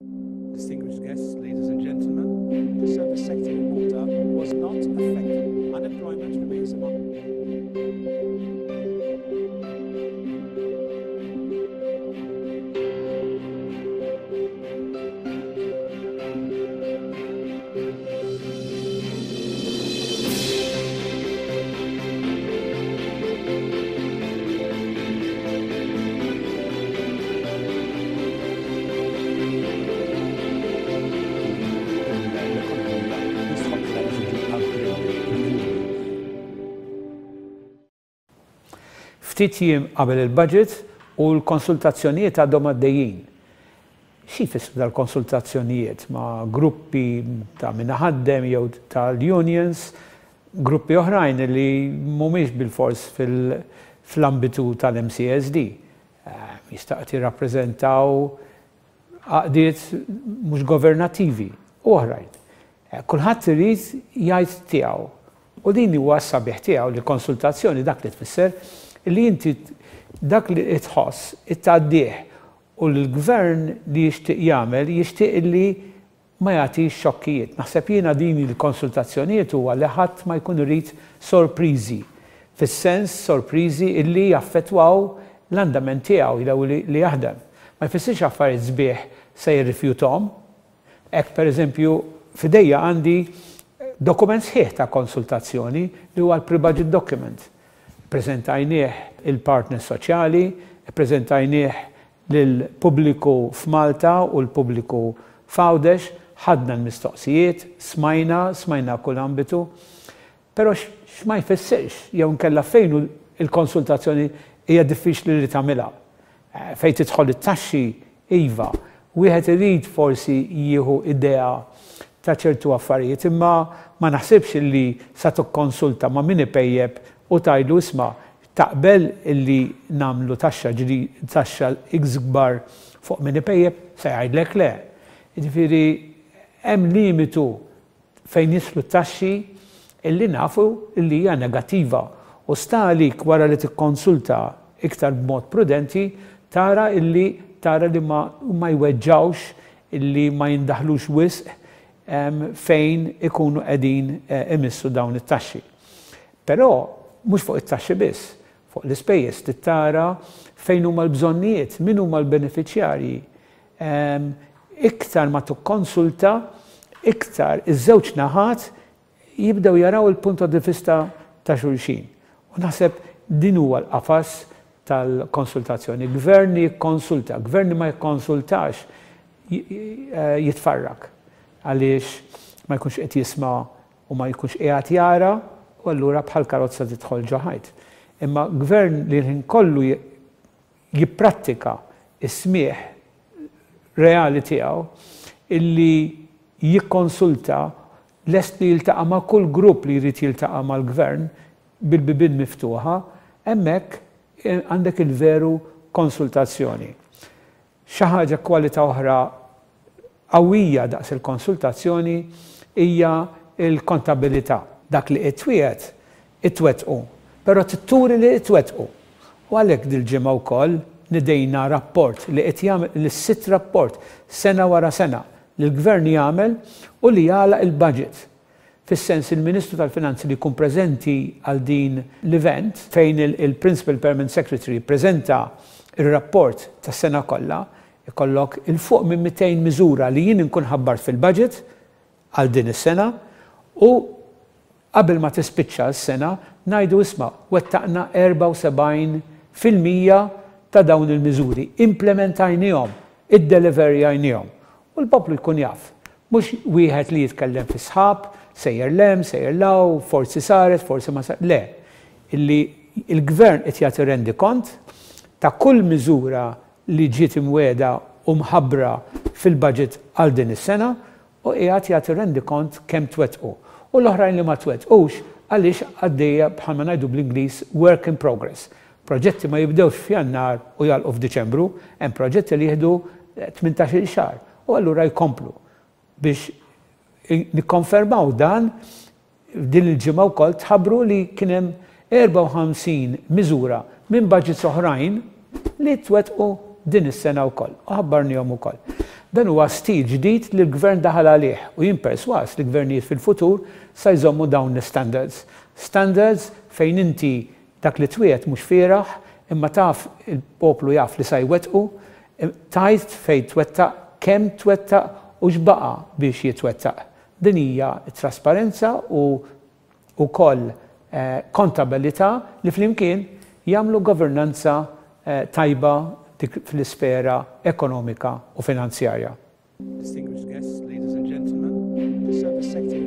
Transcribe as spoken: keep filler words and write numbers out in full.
Distinguished guests, ladies and gentlemen, the service sector in Malta was not affected. Unemployment remains among L-ekonomija jistħoqqilha li tiġi upgraded. Ftit jiem qabel il-budget u l-konsultazzjonijiet għadhom għaddejjin. Xi jfissru dal-konsultazzjonijiet ma' gruppi ta' min iħaddem jew tal-unions, gruppi oħrajn li mhumiex bilfors fl-ambitu tal-M C S D? Jista' jirrappreżentaw għaqdiet mhux governattivi u oħrajn. Kulħadd irid jgħid tiegħu. U din huwa s-sabiħ tiegħu li konsultazzjoni dak li tfisser li inti dak li tħoss ittgħaddih u l-gvern li jixtieq jagħmel jixtieq li ma jagħtix xokkijiet. Naħseb jiena din il-konsultazzjonijiet huwa li ħadd ma jkun irid sorpriżi. Fis-sens sorpriżi illi jaffettwaw l-andament tiegħu jew li jaħdem. Ma jfissirx affarijiet sbieħ se jirrifjutom. Hekk, pereżempju, f'idejja għandi dokument sħiħ ta' konsultazzjoni li huwa l-pre-budget document. Preżentajnieh il-partner soċjali, preżentajnieh lill-pubbliku f'Malta u l-pubbliku f'Għawdex, ħadna l-mistoqsijiet, smajna, smajna kull ambitu, però x'ma jfissirx jew nkella fejn il-konsultazzjoni hija diffiċli li tagħmilha. Eh, fejn tidħol it-taxxi, iva, wieħed irid forsi jieħu idea ta' ċertu affarijiet, imma ma naħsibx illi sa tikkonsulta ma' min ipejjep u tgħidlu, "Isma', taqbel illi nagħmlu taxxa ġri taxxa ikbar fuq min ipejjep?" Se jgħidlek le. Jiġifieri hemm limitu fejn jidħlu taxxi illi nafu illi hija negattiva u sta għalik wara li tikkonsulta iktar b'mod prudenti tara illi tara li ma, ma jweġġawx, illi ma jindaħlux wisq fejn ikunu qegħdin eh, imissu dawn it-taxxi. Però mhux fuq it-taxxi biss, fuq l-ispejjeż tara fejn huma l-bżonnijiet, min huma l-beneficjarji. Iktar ma tikkonsulta, iktar iż-żewġ naħat jibdew jaraw il-punto di vista ta' xulxin. U naħseb din huwa l-qafas tal-konsultazzjoni. Gvern jikkonsulta, gvern ma jikkonsultax eh, jitfarrak għaliex ma jkunx qed jisma' u ma jkunx qiegħed jara u allura bħal karozza tidħol ġo ħajt. Imma gvern li l kollu jipprattika is-smieħ reali tiegħu, illi jikkonsulta, lest li jiltaqa' ma' kull grupp li jrid jiltaqa' mal-gvern bil-bibien miftuħa, hemmhekk eh, għandek il-veru konsultazzjoni. Xi ħaġa, kwalità oħra qawwija daqs il-konsultazzjoni hija il-kontabilità. Dak li itwiegħed, itwettqu, però turi li itwettqu. U għalhekk dil-ġimgħa wkoll nidejna rapport li qed jagħmel l-sitt rapport sena wara sena li l-gvern jagħmel u li jagħlaq il-budget. Fis-sens il-Ministru tal-Finanzi li jkun preżenti għal din l-event fejn il-Principal Permanent Secretary prezenta il-rapport tas-sena kollha, ikollok 'il fuq minn mitejn miżura li jien inkun ħabbart fil-budget għal din is-sena u qabel ma tispiċċa s-sena ngħidu, "Isma', wettaqna erbgħa u sebgħin fil-mija ta' dawn il-miżuri, implementajnihom, iddeliverjajnihom." U l-poplu jkun jaf. Mhux wieħed li jitkellem fi sħab, sejjer 'l hemm, sejjer 'l hawn, forsi saret, forsi ma saret. Le, illi il-gvern qed jagħti rendikont ta' kull miżura li ġiet imwiegħda u mħabbra fil-budget għal din is-sena u qiegħed jagħti rendikont kemm twettqu. U l-oħrajn li ma twettqux għaliex għaddejja, bħalma ngħidu bl-Ingliż, work in progress. Proġetti ma jibdewx f'Jannar u jagħlqu f'Diċembru, hemm proġetti li jieħdu tmintax-il xahar u allura jkomplu. Biex nikkonfermaw dan, din il-ġimgħa wkoll tħabbru li kien hemm erbgħa u ħamsin miżura minn budgets oħrajn li twettqu din is-sena wkoll. U ħabbarnihom ukoll. Dan huwa stil ġdid li l-gvern daħal għalih u jien perswas li gvernijiet fil-futur sa jżommu dawn l-standards. Standards fejn inti dak li twiegħed mhux fieragħ, imma taf il-poplu jaf li sa jwettqu, tgħid fejn twettaq, kemm twettaq u x'baqa' biex jitwettaq. Din hija trasparenza u wkoll eh, kontabilità li flimkien jagħmlu governanza eh, tajba fl-isfera ekonomika u finanzjarja. Distinguished guests, ladies and gentlemen, the service sector